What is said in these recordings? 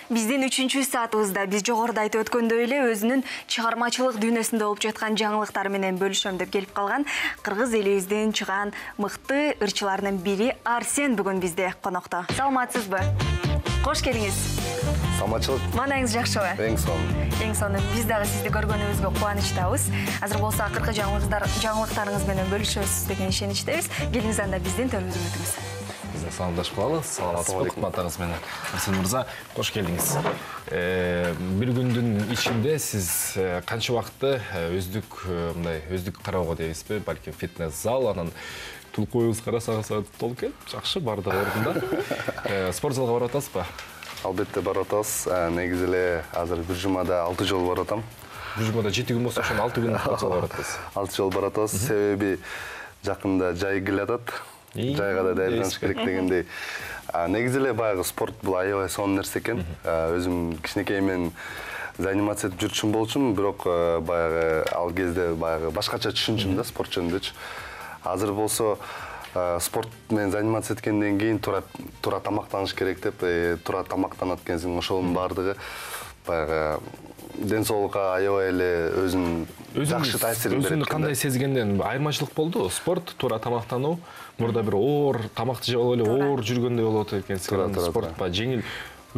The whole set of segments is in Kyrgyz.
Биздин 3-чү саатыбызда биз жогоруда айтып өткөндөй эле өзүнүн чыгармачылык дүйнөсүндө болуп жаткан жаңылыктары менен бөлүшөм деп келип калган кыргыз элибиздин чыгаан мыкты ырчыларынын бири Арсен бүгүн бизде конокто. Саламатсызбы? Кош келиңиз. Саламатчылык. Маанайыңыз жакшыбы? Эң сонун. Эң сонун. Биз дагы сизди көргөнүбүзгө кубанычтабыз. Азыр болсо акыркы жаңылыктарыңыз менен бөлүшөсүз деген ишеничтебиз. Келиңиз анда биздин төрүбүздөн өтүңүз. Саламдашып калалы. Саламатсызбы кызматтарыңыз менен. Арсен мырза, кош келдиңиз. Бир күндүн ичинде сиз канча убакытты өздүк кароого дейбизби, балким фитнес зал, анан тулкуюңуз карасаңыз толук экен. Жакшы, бардыгы ордунда. Спорт залга барып атасызбы? Албетте барып атабыз. Негизи эле азыр бир жумада 6 жолу барып атам. Бир жумада 7 күн болсо, ошону 6 күн спорт залга барып атасыз. 6 жолу барып атабыз. Себеби жакында жай келатат. Жайга да даярданыш керек дегендей. Негизи эле баягы спорт бул аябай сонун нерсе экен. Өзүм кичинекеймен заниматься этип жүрчүм болчумун, бирок баягы ал кезде баягы башкача түшүнчүм да спорт жөнүндө. Азыр болсо спорт менен заниматься эткенден кийин туура тамактаныш керек деп, туура тамактанат экенсиң, ошонун бардыгы баягы ден соолукка аябай эле өзүн жакшы таасирин берет. Өзүңдү кандай сезгенден айырмачылык болду? Спорт, туура тамактануу, мурда бир оор тамакты жеп алып эле оор жүргөндөй болот экенсиң. Спорт ба жеңил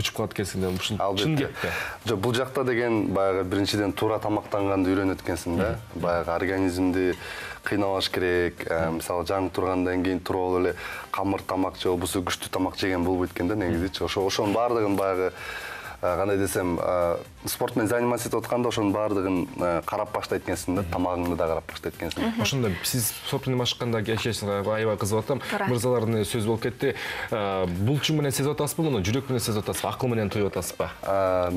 учуп калат экенсиң деп чын кепти. Жок, бул жакта деген баягы биринчиден туура тамактанганды үйрөнөт экенсиң да. Баягы организмди кыйнабаш керек. Мисалы жаңы тургандан кийин туруп алып эле камыр тамак же болбосо күчтүү тамак жеген болбойт экен да негизичи. Ошонун баардыгын баягы кандай десем, спорт менен заниматься этип атканда ошонун баардыгын карап баштайт экенсиң да, тамагыңды да карап баштайт экенсиң. Ошондо сиз спорт менен башканда кечесиңер аябай кызыгып атам. Мырзалардын сөзү болуп кетти. Булчуң менен сезип атасызбы муну? Жүрөк менен сезип атасызбы? Акыл менен туюп атасызбы?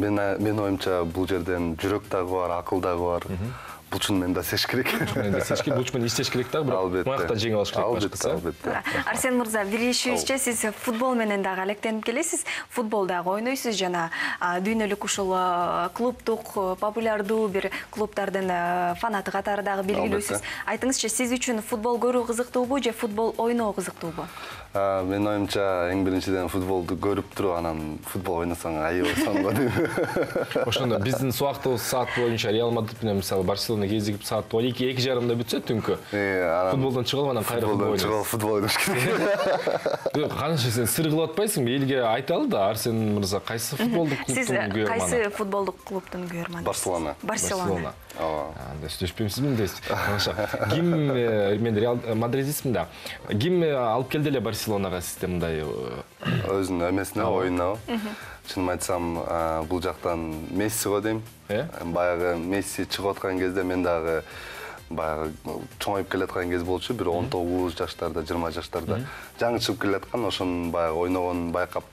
Мен оюмча бул жерден жүрөк дагы бар, акыл дагы бар. Булчун менен да сеш керек. Булчун менен иштеш керек дагы, бирок маяктан жеңип алыш керек башкысы. Арсен мырза, билишибизче сиз футбол менен дагы алектенип келесиз. Футбол дагы ойнойсуз жана дүйнөлүк ушул клубдук популярдуу бир клубдардын фанаты катары дагы белгилүүсүз. Айтыңызчы, сиз үчүн футбол көрүү кызыктуубу же футбол ойноо кызыктуубу? Мен оюмча эң биринчиден футболду көрүп туруп, анан футбол ойносоң аябай сонун дейм. Ошондо биздин убактыбыз саат боюнча Реал Мадрид менен мисалы Барселона кезигип саат 2:30 бүтсө түнкү. Футболдон чыгып анан кайра футбол ойнош керек. Канча сен сыр кылып атпайсыңбы? Элге айталы да, Арсен мырза, кайсы футболдук клубтун күйөрманы? Сиз кайсы футболдук клубтун күйөрманы? Барселона. Анда сүйлөшпөйсүзбү дейсиз. Ким, мен Реал Мадридистмин да. Ким алып келди эле Барселонага сизде мындай өзүнүн эмесине, оюнуна? Чынын айтсам, бул жактан Месси го дейм. Баягы Месси чыгып аткан кезде мен дагы баягы чоңоюп келаткан кез болчу, бир 19 жаштарда, 20 жаштарда жаңы чыгып келаткан, ошонун баягы ойногонун байкап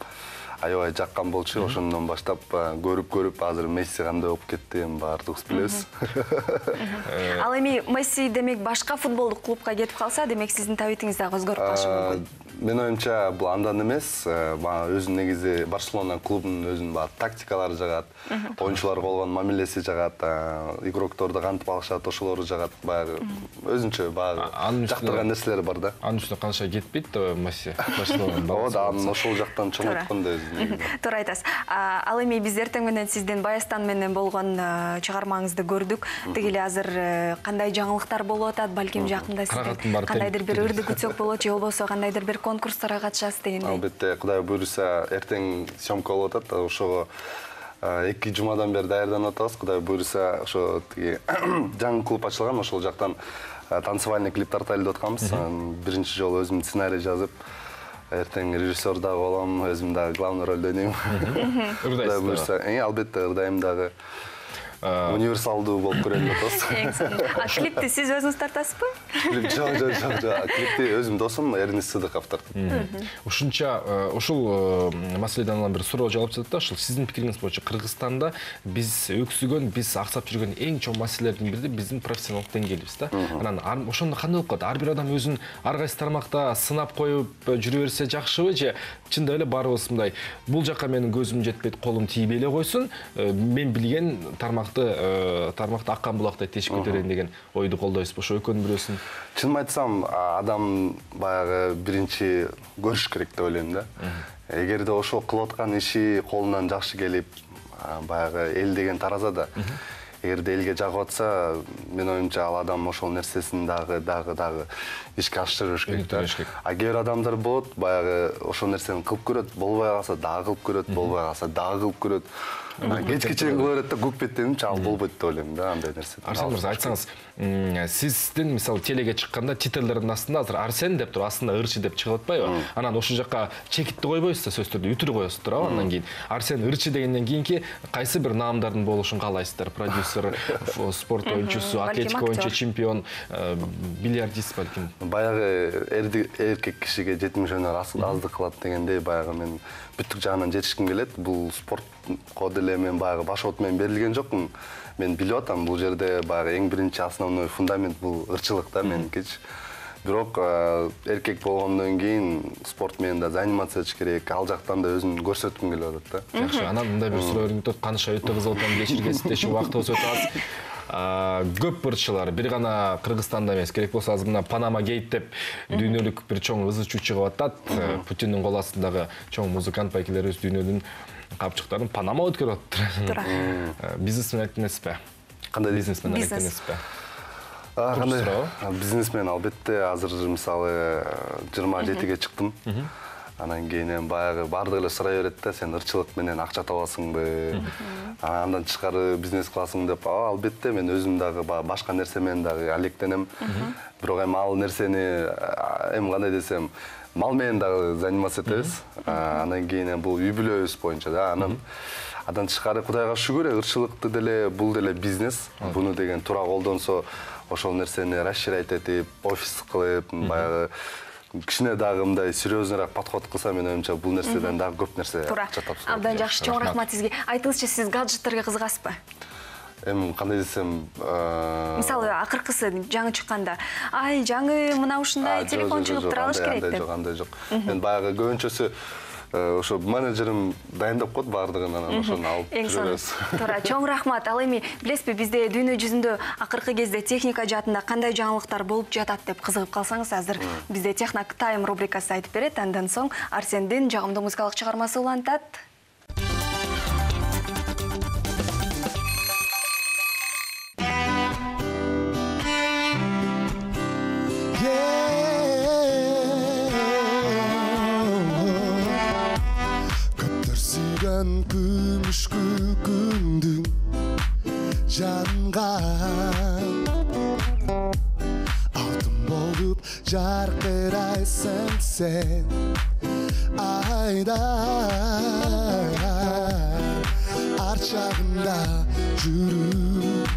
аябай жаккан болчу. Ошондон баштап көрүп азыр Месси кандай болуп кетти, баардыгыбыз билебиз. Ал эми Месси демек башка футболдук клубка кетип калса, демек сиздин табитиңиз дагы өзгөрүп калышы мүмкүн. Мен оюмча бул андан эмес, өзүнүн негизи Барселона клубунун өзүнүн тактикалары жагат, оюнчуларга болгон мамилеси жагат, игрокторду кантип алышат, ошолору жагат, баягы өзүнчө баягы жактырган нерселери бар да. Анын үстүнө канча кетпейт да Месси Барселонанын. Ооба, анын ошол жактан чоңойткон да өзү. Туура айтасыз. Ал эми биз эртең менен сиздин Баястан менен болгон чыгармаңызды көрдүк. Деги эле азыр кандай жаңылыктар болуп атат, балким жакында сиздер кандайдыр бир ырды күтсөк болот, же болбосо кандайдыр бир конкурстарга катышасыз дегендей. Албетте, Кудай буйруса, эртең съемка болуп атат. Ошого 2 жумадан бери даярданып атабыз. Кудай буйруса, ошо жаңы клуб ачылган, ошол жактан танцевальный клип тартайлы деп атканбыз. Биринчи жолу өзүм сценарий жазып, эртең режиссер дагы болом, өзүм дагы главный ролду ойнойм. Ырдайсыз? Албетте, ырдайм дагы. Универсалдуу болуп көрөлү деп атабыз. Клипти сиз өзүңүз тартасызбы? Жок. Клипти өзүм досум Эрнис Сыдыков тартат. Ушунча ушул маселеден алган бир суроо жаап жатат да, ушул сиздин пикириңиз боюнча Кыргызстанда биз өксүгөн, биз аксап жүргөн эң чоң маселелердин бири биздин профессионалдык деңгээлибиз да. Анан ошондо кандай болуп калат? Ар бир адам өзүн ар кайсы тармакта сынап коюп жүрө берсе жакшыбы же чындап эле баарыбыз мындай бул жака менин көзүм жетпейт, колум тийбей эле койсун, мен билген тармак тармакты аккан булактай тешип кетерин деген ойду колдойсузбу? Ошо экөөнүн бирөөсүн. Чынын айтсам, адам баягы биринчи көрүш керек деп ойлойм да. Эгерде ошо кылып аткан иши колунан жакшы келип, баягы эл деген тараза да. Эгерде элге жагып атса, мен оюмча ал адам ошол нерсесин дагы ишке ашырыш керек. А кээ бир адамдар болот, баягы ошол нерсени кылып көрөт, болбой калса дагы кылып көрөт, болбой калса дагы кылып көрөт. Кечке чейин кыла берет да, көк беттенимче ал болбойт деп ойлойм да, андай нерсе. Арсен мырза, айтсаңыз, сиздин мисалы телеге чыкканда титрлердин астында азыр Арсен деп туруп, астында ырчы деп чыгып атпайбы? Анан ошол жакка чекитти койбойсуздар, сөзсүз түрдө үтүр коесуздар, андан кийин Арсен ырчы дегенден кийинки кайсы бир наамдардын болушун каалайсыздар? Продюсер, спорт оюнчусу, атлетика боюнча чемпион, бильярдист балким. Баягы эркек кишиге жетимиш өнөр аздык кылат дегендей, баягы мен бүттүк жагынан жетишким келет. Бул спортко деле мен баягы баш от менен берилген жокмун. Мен билип атам, бул жерде баягы эң биринчи основной фундамент бул ырчылык да меникичи. Бирок эркек болгондон кийин спорт менен да заниматься этиш керек. Ал жактан да өзүмдү көрсөткүм келип атат да. Жакшы, анан мындай бир суроо өрүнүп каныша өтө кызык экен, кечиргесиздеши убактыбыз өтө аз. Көп ырчылар бир гана Кыргызстанда эмес, керек болсо азыр мына Панама гейт деп дүйнөлүк бир чоң ызы-чуу чыгып атат. Путиндин кол астындагы чоң музыкант байкелерибиз дүйнөнүн капчыктарын Панама өткөрүп атат. Бизнесмен эмеспи? Кандай бизнесмен эмеспи? Кандай бизнесмен албетте, азыр мисалы 27-ге чыктым. Анан кийин баягы баардыгы эле сурай берет да, сен ырчылык менен акча табасыңбы? Андан тышкары бизнес кыласың деп, албетте мен өзүм дагы башка нерсе менен дагы алектенем. Бирок ал нерсени кандай десем, мал менен дагы заниматься этебиз. Анан кийин бул үй бүлөбүз боюнча да. Андан тышкары Кудайга шүгүр, ырчылыкты деле бул деле бизнес. Буну деген туура колдонсо, ошол нерсени расширять этип, офис кылып, баягы кичине дагы мындай серьезныйраак подход кылса, мен оюмча бул нерседен дагы көп нерсе акча тапса. Абдан жакшы, чоң рахмат сизге. Айтыңызчы, сиз гаджеттерге кызыгасызбы? Кандай десем, мисалы акыркысы жаңы чыкканда, ай жаңы мына ушундай телефон чыгып тура алыш керек деп. Андай жок. Мен баягы көбүнчөсү ошо менеджерим дайындап коет баардыгын, анан ошону алып жүрөбүз. Туура, чоң рахмат. Ал эми билесизби, бизде дүйнө жүзүндө акыркы кезде техника жаатында кандай жаңылыктар болуп жатат деп кызыгып калсаңыз, азыр бизде Технок Тайм рубрикасы айтып берет. Андан соң Арсендин жагымдуу музыкалык чыгармасы улантат. Күмүш күндүң жанган алтын болуп жаркырайсың сен айда арчагында жүрүп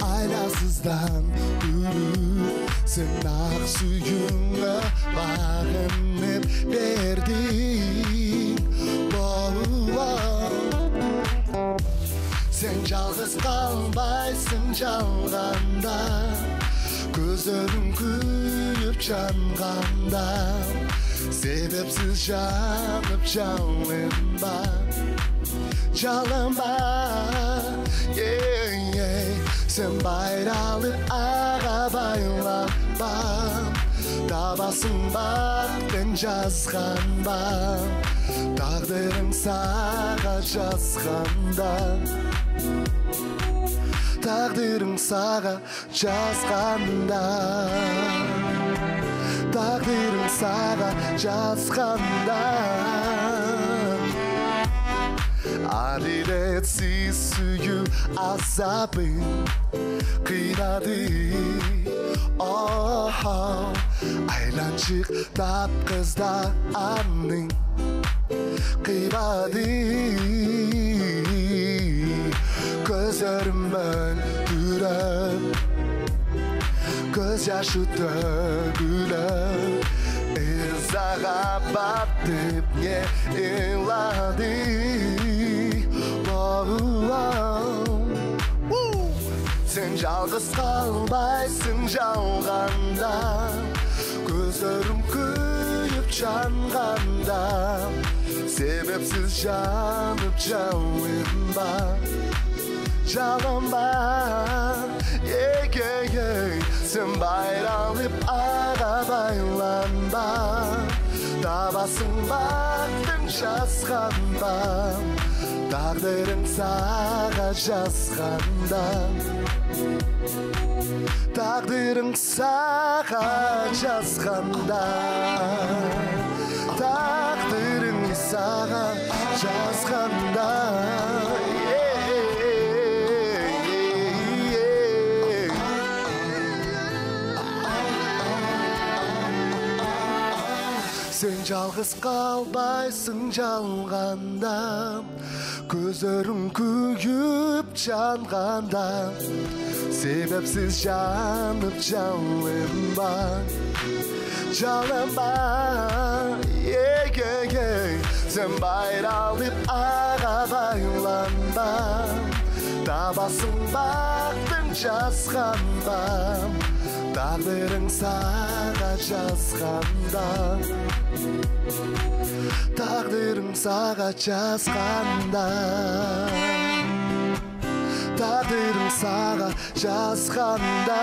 айласыздан үрүп сен ак сүйүүңө багынып бердиң. Sen жалгыз калбайсың жалганда, көзөрүң күйүп жанганда, себепсиз жанып жалынба, жалынба. Sen байралып ага байланба, табасың бактын жазганба, тагдырың сага жазганда, тагдырың сага жазганда, тагдырың сага жазганда. Адилетсиз сүйүү азабын кыйнады, айланчык тапкызда анын кыйбады. Көзөрүмөн түрөп, көз жашы төгүлөп, ызага батып не ыйлады. Sen жалгыз калбайсың жалганда, көзөрүң күйүп жанганда, себепсиз жанып жалынба, жалынба, сен байралып аға байланба, табасың бақтың жазғанда, тағдырың саға жазғанда, тағдырың саға жазғанда, тағдырың саға жазғанда. Сен жалғыз қалбайсың жалғанда, көзөрүң күйіп жанғанда, себепсіз жанып жалынба, жалынба, сен байралып аға байланба, табасың бақтың жазғанда, тағдырың саға жазғанда, тағдырың саға жазғанда, тағдырың саға жазғанда.